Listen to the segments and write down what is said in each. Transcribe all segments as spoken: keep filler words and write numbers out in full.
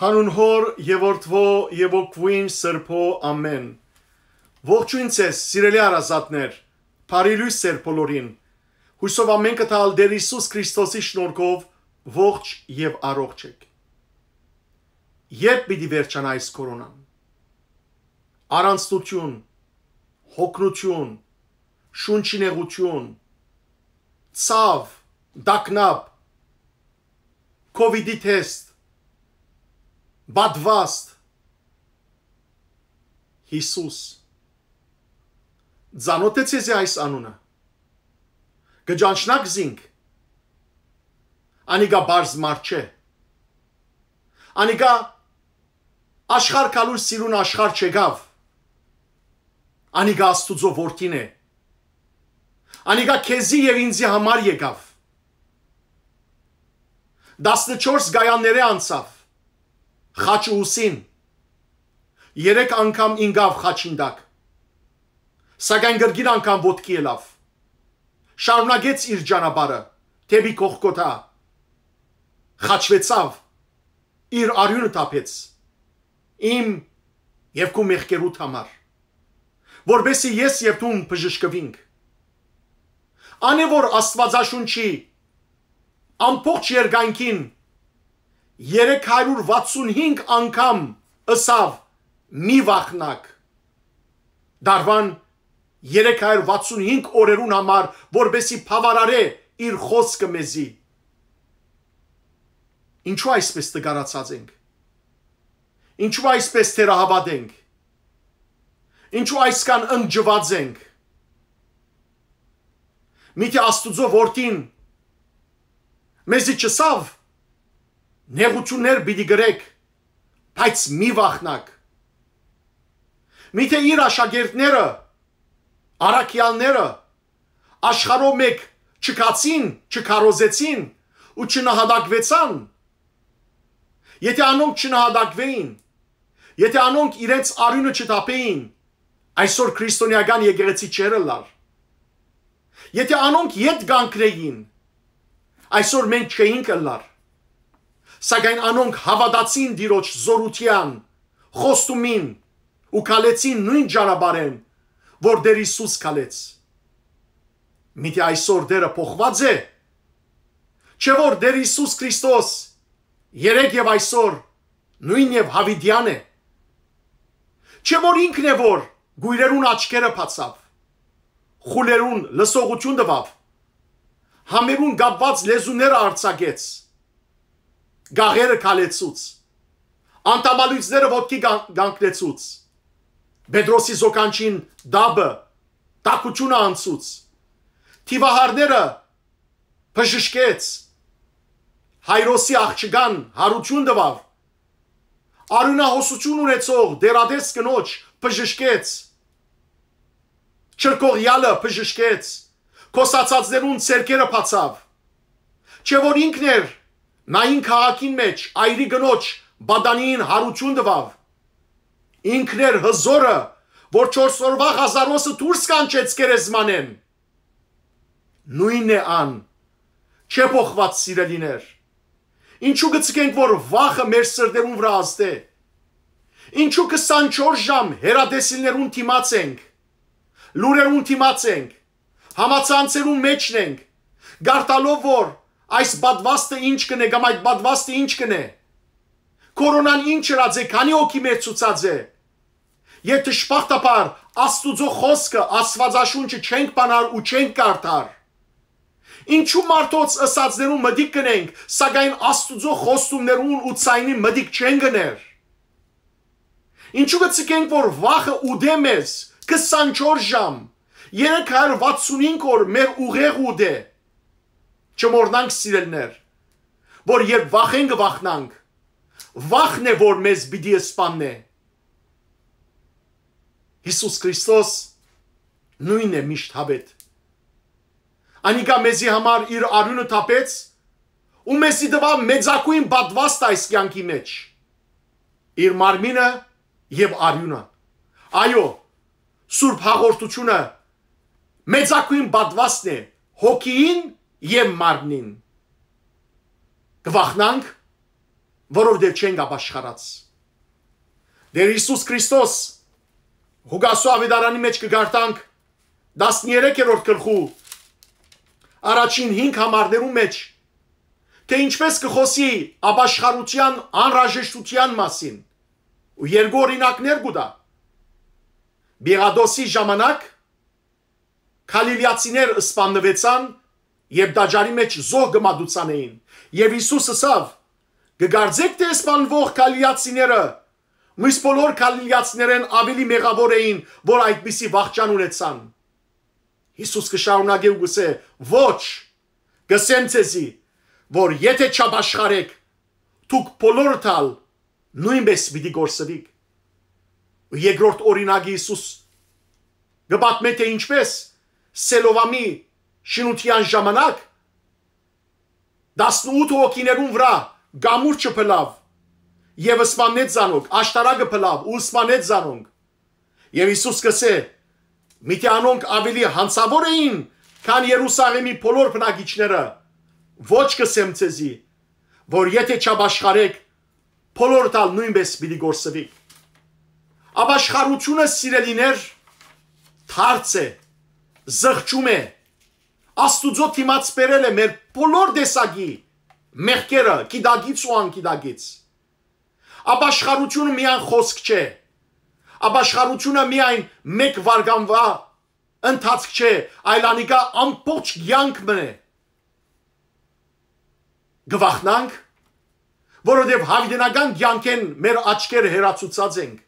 Անուն Հօր եւ Որդւոյ եւ Հոգւոյն Սրբոյ, ամէն։ Ողջոյն ձեզ, սիրելի հարազատներ, բարի լոյս ձեր բոլորին։ Յուսով ամէնքը տալ Տէր Յիսուս Քրիստոսի շնորհքով ողջ եւ առողջ եք։ Երբ պիտի վերջանայ այս կորոնան։ Առանցնութիւն, հոգնութիւն, շունչի նեղութիւն, ցաւ, տագնապ, COVID-ի թեստ, պատվաստ, Յիսուս։ Ծանոթ է ձեզի այս անունը։ Կը ճանչնաք զինք։ Անիկա պարզ մարդ չէ։ Անիկա աշխարհ գալուր սիրուն աշխարհ չեկաւ։ Անիկա Աստուծոյ որդին է։ Անիկա քեզի եւ ինձի համար եկաւ։ Տասնչորս կայաններէ անցաւ, խաչը ուսին։ Երեք անգամ ինկաւ խաչին տակ, սակայն կրկին անգամ ոտքի ելաւ։ Շարունակեց իր ճանապարհը դէպի Գողգոթա։ Խաչուեցաւ, իր արիւնը թափեց իմ եւ քու մեղքերուդ համար, որպեսզի ես եւ դուն բժշկուինք։ Ան է, որ Աստուածաշունչի ամբողջ երկայնքին երեք հարիւր վաթսուն հինգ անգամ ըսաւ. «Մի վախնաք»։ Դարուան երեք հարիւր վաթսուն հինգ օրերուն համար, որպեսզի բաւարարէ իր խօսքը մեզի։ Ինչու այսպես տկարացած ենք։ Ինչու այսպես թերահաւատ ենք։ Ինչու այսքան ընկճուած ենք։ Միթէ Աստուծոյ որդին մեզի չըսաւ. «Նեղութիւններ պիտի կրեք, բայց մի վախնաք»։ Միթէ իր աշակերտները, առաքեալները, աշխարհով մէկ չքացին, չքարոզեցին ու չնահատակվեցան։ Եթէ անոնք չնահատակվէին, եթէ անոնք իրենց արիւնը չթափէին, այսօր քրիստոնեական եկեղեցի չէր ըլլար։ Եթէ անոնք ետ կանգնէին, այսօր մենք չէինք ըլլար։ Սակայն անոնք հաւատացին Տիրոջ զօրութեան, խոստումին ու քալեցին նոյն ճանապարհէն, որ Տէր Յիսուս քալեց։ Միթէ այսօր Տէրը փոխուած է։ Չէ՞ որ Տէր Յիսուս Քրիստոս երեկ եւ այսօր նոյն եւ յաւիտեան է։ Չէ՞ որ ինքն է, որ կոյրերուն աչքերը բացաւ, խուլերուն լսողութիւն տուաւ, համերուն կապուած լեզուները արձակեց, գաղերը քալեցուց, անդամալոյծները ոտքի կան-, կանգնեցուց, Պետրոսի զոկանչին տապը, տաքութիւնը անցուց, դիւահարները բժշկեց, Հայրոսի աղջկան յարութիւն տուաւ, արիւնահոսութիւն ունեցող դեռատես կնոջ բժշկեց, չրկողեալը բժշկեց, կոսացածներուն ձեռքերը բացաւ։ Չէ՞ որ ինքն էր նային քաղաքին մէջ այրի կնոջ պատանիին յարութիւն տուաւ։ Ինքն էր հզօրը, որ չորս օրուայ Ղազարոսը դուրս կանչեց գերեզմանէն։ Նոյնն է ան, չէ փոխուած, սիրելիներ։ Ինչու՞ կը ձգենք, որ վախը մեր սրտերուն վրայ ազդէ։ Ինչու՞ քսանչորս ժամ հեռատեսիլներուն դիմաց ենք, լուրերուն դիմաց ենք, համացանցերուն մէջն ենք, կարդալով, որ այս պատվաստը ինչ կ'ընէ կամ այդ պատվաստը ինչ կ'ընէ։ Կորոնան ինչ ըրած է, քանի՞ հոգի մեռցուցած է։ Եթէ դժբախտաբար Աստուծոյ խօսքը, Աստուածաշունչը չենք բանար ու չենք կարդար։ Ինչու մարդոց ըսածներուն մտիկ կ'ընենք, սակայն Աստուծոյ խոստումներուն ու ձայնին մտիկ չենք ըներ։ Ինչու՞ կը ձգենք, որ վախը ուտէ մեզ քսանչորս ժամ, երեք հարյուր վաթսուն հինգ օր մեր ուղեղը ուտէ։ Չմոռնանք, սիրելիներ, որ երբ վախ ենք, կը վախնանք, վախն է, որ մեզ պիտի սպաննէ։ Յիսուս Քրիստոս նոյնն է միշտ յաւէտ։ Անիկա մեզի համար իր արիւնը թափեց ու մեզի տուաւ մեծագոյն պատուաստ այս կեանքի մէջ, իր մարմինը եւ արիւնը։ Այո, Սուրբ Հաղորդութիւնը մեծագոյն պատուաստն է հոգիին եւ մարմնին։ Կը վախնանք, որովհետեւ չենք ապաշխարած։ Տէր Յիսուս Քրիստոս Ղուկասու աւետարանի մէջ կը կարդանք, տասներեքերորդ գլխու առաջին հինգ համարներու մէջ, թէ ինչպէս կը խօսի ապաշխարութեան անհրաժեշտութեան մասին ու երկու օրինակներ կու տայ։ Պիղատոսի ժամանակ Գալիլեացիներ սպաննուեցան եւ տաճարի մէջ զոհ կը մատուցանէին։ Եւ Յիսուս ըսաւ. «Կը կարծէք թէ սպանուող Գալիլեացիները միս բոլոր Գալիլեացիներէն աւելի մեղաւոր էին, որ այդպիսի վախճան ունեցան»։ Յիսուս կը շարունակէ ու կ'ըսէ. «Ոչ, կ'ըսեմ ձեզի, որ եթէ չապաշխարէք, դուք բոլորդ ալ նոյնպէս պիտի կորսուիք»։ Երկրորդ օրինակը Յիսուս կը պատմէ, թէ ինչպէս Սելովամի շինութեան ժամանակ տասնութ հոգիներուն վրայ կամուրջը փլաւ եւ սպաննեց զանոնք, աշտարակը փլաւ ու սպաննեց զանոնք։ Եւ Յիսուս կ'ըսէ. «Միթէ անոնք աւելի յանցաւոր էին, քան Երուսաղէմի բոլոր բնակիչները։ Ոչ, կ'ըսեմ ձեզի, որ եթէ չապաշխարէք, բոլորդ ալ նոյնպէս պիտի կորսուիք»։ Ապաշխարութիւնը, սիրելիներ, դարձ է, զղջում է, Աստուծոյ դիմաց բերել է մեր բոլոր տեսակի մեղքերը, գիտակից ու անգիտակից։ Ապաշխարութիւնը միայն խօսք չէ։ Ապաշխարութիւնը միայն մէկ վարկանուա ընթացք չէ, այլ անիկա ամբողջ կեանք մըն է։ Կը վախնանք, որովհետեւ յաւիտենական կեանքէն մեր աչքերը հեռացուցած ենք,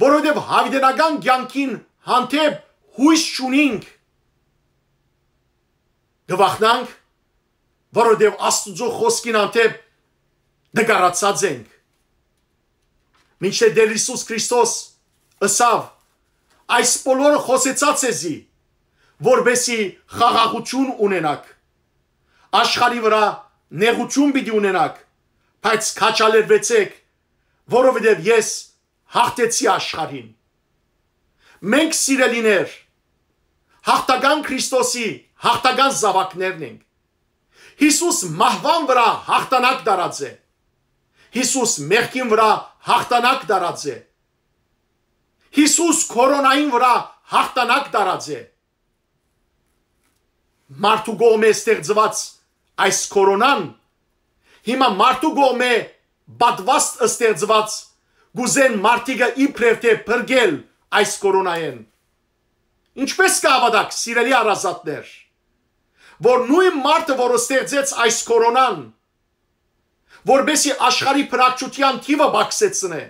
որովհետեւ յաւիտենական կեանքին հանդէպ յոյս չունինք։ Կը վախնանք, որովհետեւ Աստուծոյ խօսքին հանդէպ նկարացած ենք։ Մինչդեռ Տէր Յիսուս Քրիստոս ըսաւ. «Այս բոլորը խօսեցայ ձեզի, որպեսզի խաղաղութիւն ունենաք։ Աշխարհի վրայ նեղութիւն պիտի ունենաք, բայց քաջալերուեցէք, որովհետեւ ես յաղթեցի աշխարհին»։ Մենք, սիրելիներ, յաղթական Քրիստոսի յաղթական զաւակներն ենք։ Յիսուս մահուան վրայ յաղթանակ տարած է։ Յիսուս մեղքին վրայ յաղթանակ տարած է։ Յիսուս կորոնային վրայ յաղթանակ տարած է։ Մարդու կողմէ ստեղծուած այս կորոնան, հիմա մարդու կողմէ պատուաստ ստեղծուած, կ'ուզեն մարդիկը իբրեւ թէ փրկել այս կորոնայէն։ Ինչպէս կը հաւատաք, սիրելի հարազատներ, որ նոյն մարդը, որ ստեղծեց այս կորոնան, որպէսզի աշխարհի բնակչութեան թիւը պակսեցնէ,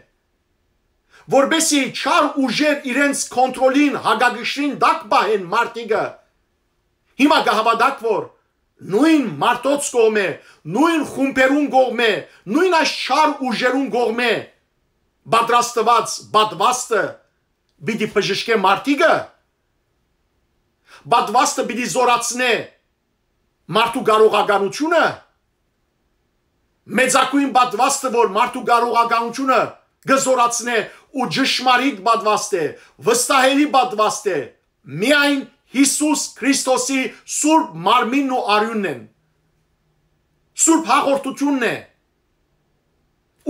որպէսզի չար ուժեր իրենց կոնտրոլին, հակակշռին տակ պահեն մարդիկը, հիմա կը հաւատաք, որ նոյն մարդոց կողմէ, նոյն խումբերուն կողմէ, նոյն այս չար ուժերուն կողմէ պատրաստուած պատուաստը պիտի բժշկէ մարդիկը, պատուաստը պիտի զօրացնէ մարդու կարողականութիւնը, մեծագոյն պատուաստը, որ մարդու կարողականութիւնը կը զօրացնէ ու ճշմարիտ պատուաստ է, վստահելի պատուաստ է, միայն Յիսուս Քրիստոսի սուրբ մարմինն ու արիւնն են, սուրբ հաղորդութիւնն է։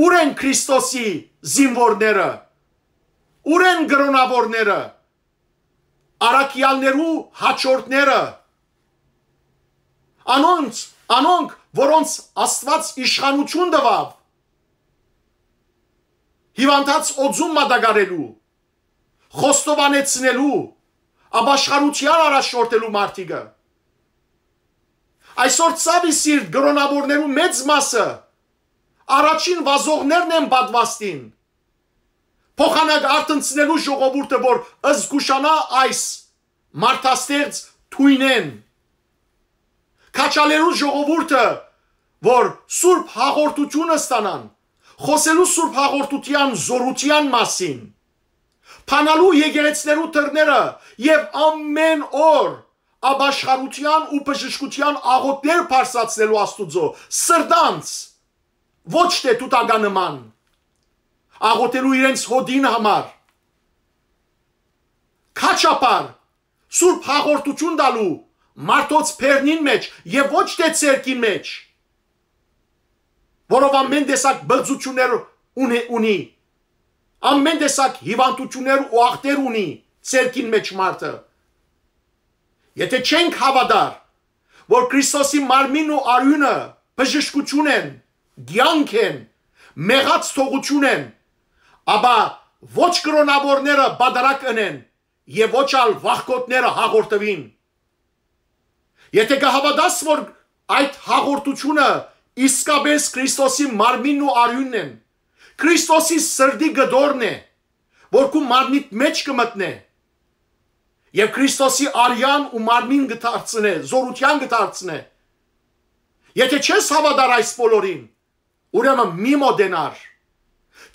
Ո՞ւր են Քրիստոսի զինուորները, ո՞ւր են կրօնաւորները, առաքեալներու հաջորդները, անոնց, անոնք, որոնց Աստուած իշխանութիւն տուաւ հիւանդանոց օծում մատակարելու, խոստովանեցնելու, ապաշխարութեան առաջնորդելու մարդիկը։ Այսօր, ցաւի սիրտ, կրօնաւորներու մեծ մասը առաջին վազողներն են պատուաստին, փոխանակ արթնցնելու ժողովուրդը, որ զգուշանայ այս մարդաստեղծ թոյնէն, քաջալերու ժողովուրդը, որ սուրբ հաղորդութիւնը ստանան, խօսելու սուրբ հաղորդութեան զօրութեան մասին, բանալու եկեղեցիներու դռները եւ ամէն օր ապաշխարութեան ու բժշկութեան աղօթքներ բարձրացնելու Աստուծոյ սրտանց, ոչ թէ թութակա նման, աղօթելու իրենց հօտին համար, քաջաբար սուրբ հաղորդութիւն տալու մարդոց բերնին մէջ եւ ոչ թէ ձեռքին մէջ։ որով ամեն տեսակ բղծութիւններ ունի, ունի, ամեն տեսակ հիւանդութիւններ ու ախտեր ունի ցերկին մէջ մարդը։ Եթե չենք հաւատար, որ Քրիստոսի մարմինն ու արիւնը բժշկութիւն են, կեանք են, մեղած թողութիւն են, ապա ոչ կրոնաւորները պատարագ ընեն եւ ոչ ալ վախկոտները հաղորդուին։ Եթե կը հաւատաս, որ այդ հաղորդութիւնը իսկապէս Քրիստոսի մարմինն ու արիւնն են, Քրիստոսի սրտի կտորն է, որ քու մարմնիդ մէջ կը մտնէ, եւ Քրիստոսի արեան ու մարմին կը դարձնէ, զօրութեան կը դարձնէ։ Եթե չես հաւատար այս բոլորին, ուրեմն մի մոտենար։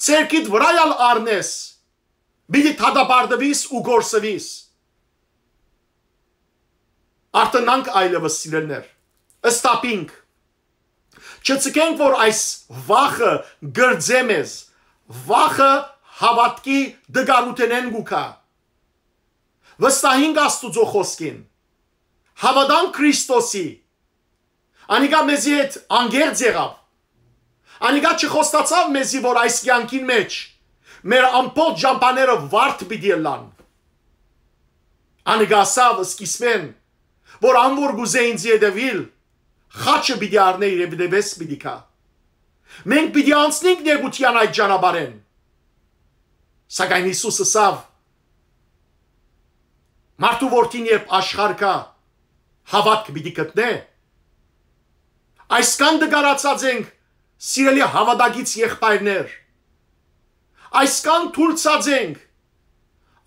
Ցերկիդ վրայ ալ առնես, պիտի դատապարտուիս ու կորսուիս։ Արտընանք այլեւս, սիրելիներ, ըստապինք։ Չցկենք, որ այս վախը կրծէ մեզ, վախը հաւատքի տկարութենէն կու գայ։ Վստահինք Աստուծոյ խօսքին, հաւատանք Քրիստոսի, անիկա մեզի հետ անկեղծ եղաւ, անիկա չխոստացաւ մեզի, որ այս կեանքին մէջ մեր ամբողջ ճամբաները վարդ պիտի ըլլան։ Անիկա ասաւ սկիզբէն, որ ան որ կ'ուզէ ինծի հետեւիլ, խաչը պիտի առնէ իր եւ դեպս պիտի գայ։ Մենք պիտի անցնենք նեղութեան այդ ճանապարհէն։ Սակայն Յիսուս ըսաւ. «Մարդու որդին երբ աշխարհ գայ, հաւատք պիտի գտնէ»։ Այսքան տկարացած ենք, սիրելի հաւատակից եղբայրներ, այսքան թուլցած ենք,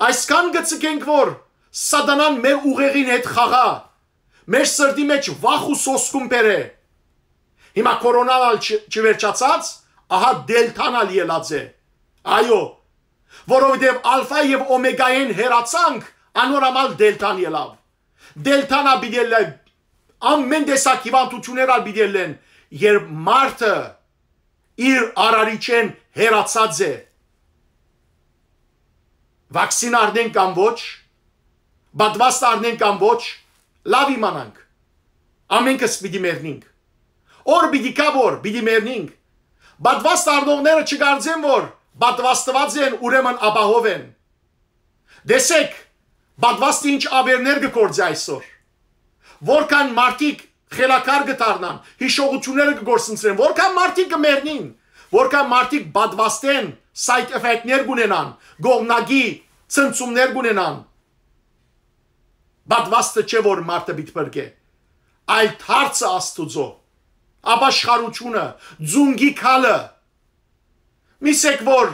այսքան կը ցկենք, որ սատանան մեր ուղեղին հետ խաղայ, մեր սրտի մէջ վախ ու սոսկում բերէ։ Հիմա կորոնան ալ չ-, չվերջացած, ահա դելթան ալ ելած է։ Այո, որովհետեւ ալֆա եւ օմեգայէն հեռացանք, անոր համար դելթան ելաւ։ Դելթան ալ պիտի ելլէ, ամեն տեսակ հիւանդութիւններ ալ պիտի ելլեն, երբ մարդը իր արարիչէն հեռացած է։ Վաքսին առնենք կամ ոչ, պատվաստ առնենք կամ ոչ, լաւ իմանանք։ Ամենքս պիտի մեռնինք։ Օր պիտի գայ, որ պիտի մեռնինք։ Պատվաստ առնողները չկարծեն, որ պատվաստուած են, ուրեմն ապահով են։ Տեսեք, պատվաստը ինչ աւերներ կը գործի այսօր։ Որքան մարդիկ խելագար կը դառնան, յիշողութիւնները կը գործընծրեն, որքան մարդիկ կը մեռնին, որքան մարդիկ պատվաստեն, side effect-ներ կունենան, կողմնակի ցնցումներ կունենան։ Պատվաստը չէ, որ մարդը պիտի փրկէ, այլ դարձը Աստուծոյ, ապաշխարութիւնը, ծունկի քալը։ Միսեք, որ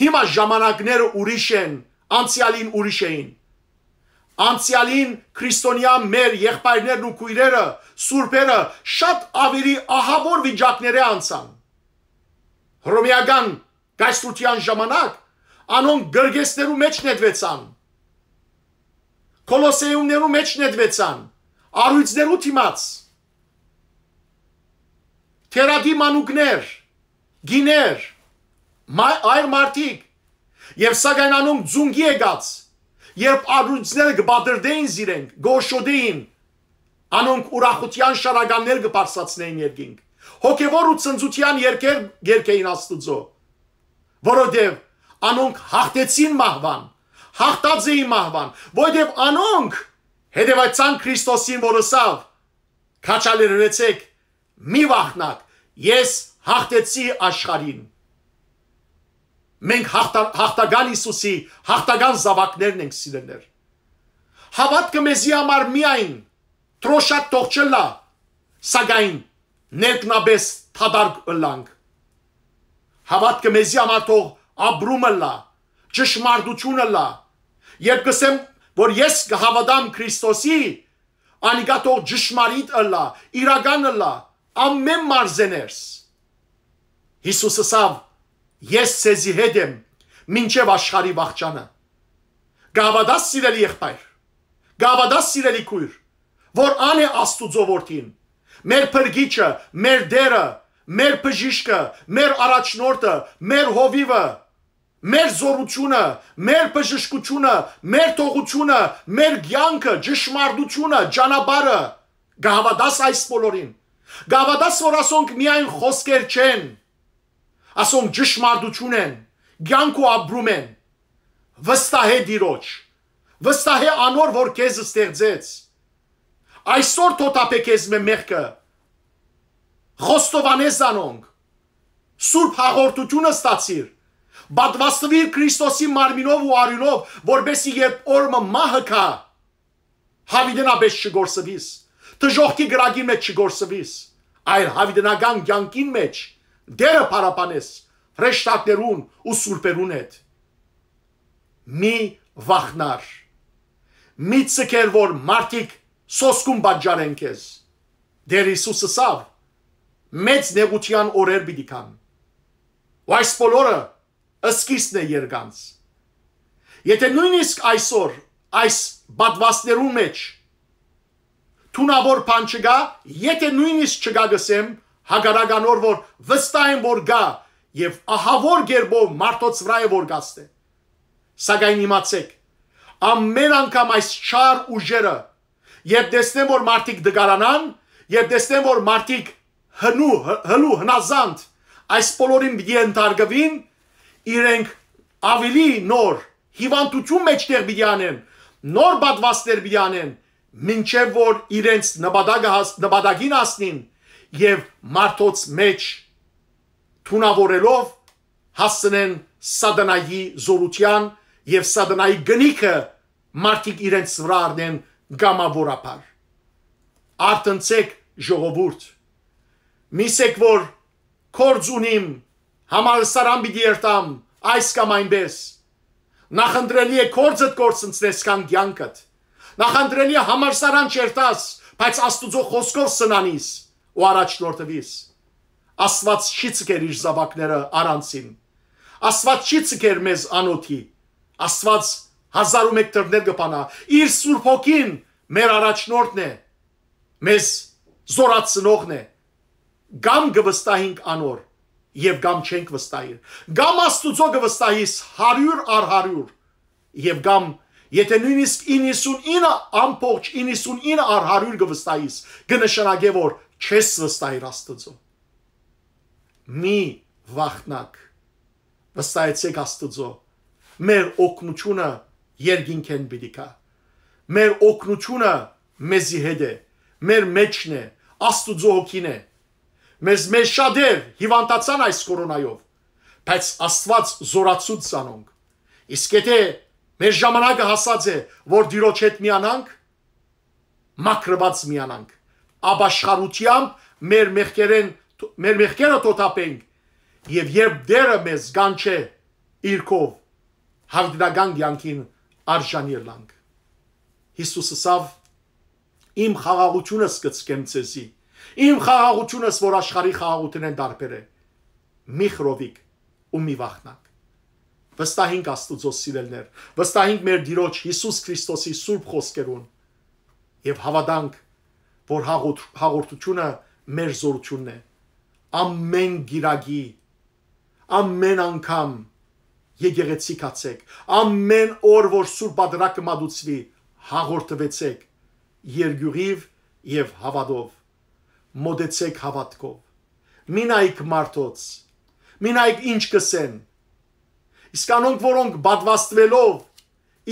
հիմա ժամանակները ուրիշ են, անցեալին ուրիշ էին։ Անցեալին քրիստոնեայ մեր եղբայրներն ու քոյրերը, սուրբերը շատ աւելի ահաւոր վիճակներէ անցան։ Հռոմէական կայսրութեան ժամանակ անոնք կրկեսներու մէջ նետուեցան, կոլոսեումներու մէջ նետուեցան, առոյցներու դիմաց, թերադի մանուկներ, կիներ, մայ-, այր մարդիկ, եւ սակայն անոնք ծունկի եկած, երբ առոյցները կը պատրդէին զիրենք, կորշոդէին, անոնք ուրախութեան շարականներ կը բարձրացնէին երկինք, հոգեվոր ու ցնծութեան երգեր երգէին Աստուծոյ, որովհետեւ անոնք հաղթեցին մահուան, հաղթած էին մահուան, որովհետեւ անոնք հետեւեցան Քրիստոսին, որ ըսաւ. «Քաջալերեցէք, մի վախնաք, ես հաղթեցի աշխարհին»։ Մենք հաղթա-, հաղթական Յիսուսի հաղթական զաւակներն ենք, սիրելիներ։ Հաւատքը մեզի համար միայն դրոշակ թող չըլլայ, սակայն ներքնապէս դատարկ ըլլանք։ Հաւատքը մեզի համար թող ապրում ըլլայ, ճշմարտութիւն ըլլայ։ Երբ կ'ըսեմ, որ ես կը հաւատամ Քրիստոսի, անիկա թող ճշմարիտ ըլլայ, իրական ըլլայ, ամեն մարզեներս։ Յիսուս ըսաւ. «Ես ձեզի հետ եմ, մինչեւ աշխարհի վախճանը»։ Կը հաւատաս, սիրելի եղբայր, կը հաւատաս, սիրելի քոյր, որ ան է Աստուծոյ որդին, մեր փրկիչը, մեր Տէրը, մեր բժիշկը, մեր առաջնորդը, մեր հովիւը, մեր զօրութիւնը, մեր բժշկութիւնը, մեր թողութիւնը, մեր կեանքը, ճշմարտութիւնը, ճանապարհը։ Կը հաւատաս այս բոլորին, Կ'հաւատա՞ս որ ասոնք միայն խօսքեր չեն, ասոնք ճշմարտություն են, կեանքով ապրում են։ Վստահէ Տիրոջ, վստահէ անոր որ քեզ ստեղծեց։ Այսօր թօթափէ քեզմէ մեղքը, խոստովանէ զանոնք, սուրբ հաղորդութիւնը ստացիր, պատուաստուիր Քրիստոսի մարմինով ու արիւնով, որպէսզի երբ օր մը մահը գայ, յաւիտենապէս չկորսուիս, դժոխքի կրակի մէջ չկորսուիս, այլ յաւիտենական կեանքին մէջ Տէրը փառաբանես հրեշտակներուն ու սուրբերուն հետ։ Մի վախնար, մի ձգեր որ մարդիկ սոսկուն պատճառեն քեզ։ Տէր Յիսուս ըսաւ. «Մեծ նեղութեան օրեր պիտի գան»։ Ու այս բոլորը սկիզբն է երկանց։ Եթէ նոյնիսկ այսօր այս պատուաստներուն մէջ թունաւոր բան չկայ, եթէ նոյնիսկ չկայ, կ'ըսեմ, հակառակ անոր որ վստահ եմ որ կայ, եւ ահաւոր կերպով մարդոց վրայ է որ կ'ազդէ։ Սակայն իմացէք, ամէն անգամ այս չար ուժերը, երբ տեսնեն որ մարդիկ տկարանան, երբ տեսնեն որ մարդիկ հնու, հ-, հլու, հնազանդ այս բոլորին պիտի ընդհարգուին, իրենք աւելի նոր հիւանդութիւն մէջտեղ պիտի անեն, նոր պատուաստներ պիտի անեն, մինչեւ որ իրենց նպատակը հաս-, նպատակին հասնին եւ մարդոց մէջ թունաւորելով հասցնեն սատանայի զօրութեան եւ սատանայի կնիքը մարդիկ իրենց վրայ առնեն կամաւորաբար։ Արթնցէք, ժողովուրդ։ Միսեք որ կորձ ունիմ, համալսարան պիտի երթամ, այս կամ այնպես։ Նախընտրելի է կորձդ կորսնցնես քան կեանքդ։ Նախընտրելի է համալսարան չերթաս, բայց Աստուծոյ խօսքով սնանիս ու առաջնորդուիս։ Աստուած չի ձգեր իր զաւակները առանցին։ Աստուած չի ձգեր մեզ անօթի։ Աստուած հազար ու մէկ դռներ կը բանայ։ Իր Սուրբ Հոգին մեր առաջնորդն է, մեզ զօրացնողն է։ Կամ կը վստահենք անոր, եւ կամ չենք վստահիր։ Կամ Աստուծոյ կը վստահիս հարիւր առ հարիւր, եւ կամ, եթէ նոյնիսկ իննսունինը, ամբողջ իննսունինը առ հարիւր կը վստահիս, կը նշանակէ որ չես վստահիր Աստուծոյ։ Մի վախնաք, վստահեցէք Աստուծոյ։ Մեր օգնութիւնը երկինքէն պիտի գայ։ Մեր օգնութիւնը մեզի հետ է, մեր մէջն է, Աստուծոյ Հոգին է։ Մեզ, մեզ շատեր հիւանդացան այս կորոնայով, բայց Աստուած զօրացուց զանոնք։ Իսկ եթէ մեր ժամանակը հասած է որ Տիրոջ հետ միանանք, մաքրուած միանանք, ապաշխարութեամբ մեր մեղքերեն, մեր մեղքերը թօթափենք, եւ երբ Տէրը մեզ կանչէ իր քով, յաւիտենական կեանքին արժանի ըլլանք։ Յիսուս ըսաւ. «Իմ խաղաղութիւնս կը ձգեմ ձեզի, իմ խաղաղութիւնս որ աշխարհի խաղաղութենէն տարբեր է։ Մի խռովիք ու մի վախնաք»։ Վստահինք Աստուծոյ, սիրելիներ, վստահինք մեր Տիրոջ Յիսուս Քրիստոսի սուրբ խօսքերուն եւ հաւատանք որ հաղորդ-, հաղորդութիւնը մեր զօրութիւնն է։ Ամէն կիրակի, ամէն անգամ եկեղեցի գացէք, ամէն օր որ Սուրբ Պատրակը մատուցուի, հաղորդուեցէք երկիւղիւ եւ հաւատով, մօտեցէք հաւատքով։ Մի նայք մարդոց, մի նայք ինչ կ'ըսեն։ Իսկ անոնք որոնք պատուաստուելով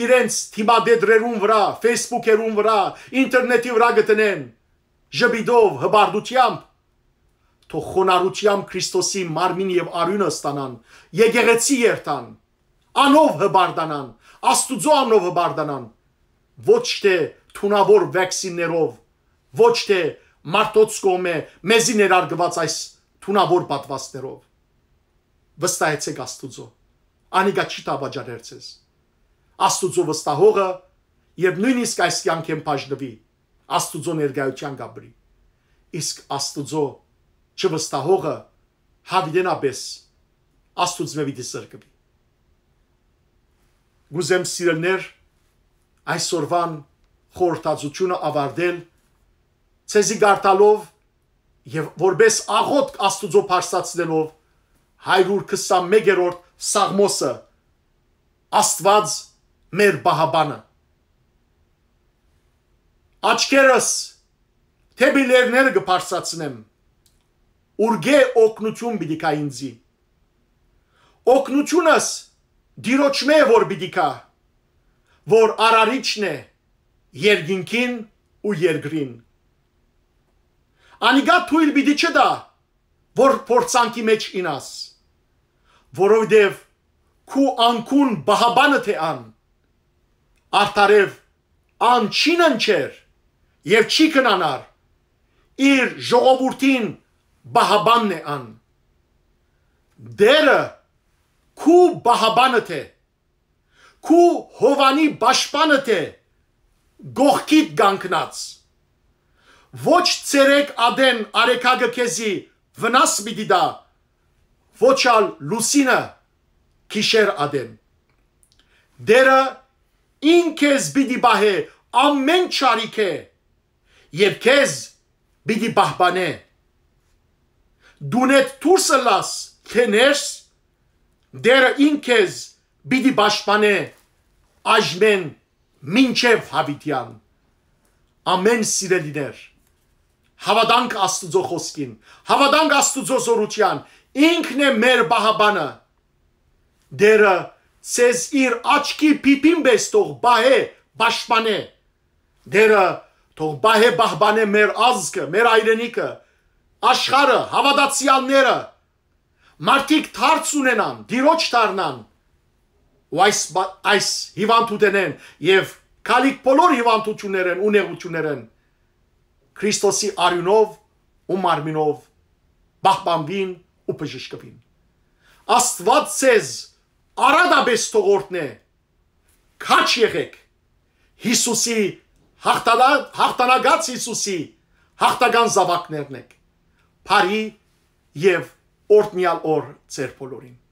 իրենց դիմատետրերուն վրայ, Facebook-երուն վրայ, ինտերնետի վրայ կը դնեն ժպիտով, հպարտութեամբ, թող խոնարհութեամբ Քրիստոսի մարմին եւ արիւնը ստանան, եկեղեցի երթան, անով հպարտանան, Աստուծոյ անունով հպարտանան, ոչ թէ թունաւոր վեքսիններով, ոչ թէ մարդոց կողմէ մեզի ներարկուած այս թունաւոր պատուաստներով։ Վստահեցէք Աստուծոյ, անիկա չի դավաճաներ ձեզ։ Աստուծոյ վստահողը, երբ նոյնիսկ այս կեանքէն բաժնուի, Աստուծոյ ներկայութեան կ'ապրի։ Իսկ Աստուծոյ չվստահողը յաւիտենապէս Աստուծմէ պիտի զրկուի։ Կ'ուզեմ, սիրելիներ, այսօրվան խորհրդածութիւնը աւարտել, ձեզի կարդալով եւ որպէս աղօթք Աստուծոյ բարձրացնելով հարիւր քսանմեկերորդ Սաղմոսը, Աստուած մեր պահապանը։ Աչքերս դէպի լեռները կը բարձրացնեմ, ուրկէ օգնութիւն պիտի գայ ինծի։ Օգնութիւնս Տիրոջմէ որ պիտի գայ, որ Արարիչն է երկինքին ու երկրին։ Անիկա թոյլ պիտի չտայ, որ փորձանքի մէջ ինաս, որովհետեւ քու անկուն պահապանը թէ ան, արդարեւ ան չի ննջեր եւ չի քնանար, իր ժողովուրդին պահապանն է ան։ Տէրը քու պահապանը թէ, քու հովանի պաշտպանը թէ, կողքիդ կանգնած։ Ոչ ցերեկ ատեն արեգակը քեզի վնաս պիտի տայ, ոչ ալ լուսինը գիշեր ատեն։ Տէրը ինք քեզ պիտի պահէ ամէն չարիքէ եւ քեզ պիտի պահպանէ։ Տունէդ դուրս ըլլաս թէ ներս, Տէրը ինք քեզ պիտի պաշտպանէ այժմէն մինչեւ յաւիտեան։ Ամէն սիրելիներ, հաւատանք Աստուծոյ խօսքին, հաւատանք Աստուծոյ զօրութեան, ինքն է մեր պահապանը։ Տէրը ձեզ իր աչքի փիփին պէս թող պահէ, պաշտպանէ։ Տէրը թող պահէ, պահպանէ մեր ազգը, մեր հայրենիքը, աշխարհը, հաւատացեալները, մարդիկ դարձ ունենան, Տիրոջ դառնան ու այս, այս հիւանդութենէն եւ գալիք բոլոր հիւանդութիւններէն ու նեղութիւններէն Քրիստոսի արիւնով ու մարմինով պահպանուին ու բժշկուին։ Աստուած ձեզ արատապէս թող օրհնէ, քաջ եղէք, Յիսուսի հաղթանա-, հաղթանակած Յիսուսի հաղթական զաւակներն եք։ Բարի եւ օրհնեալ օր ձեր բոլորին։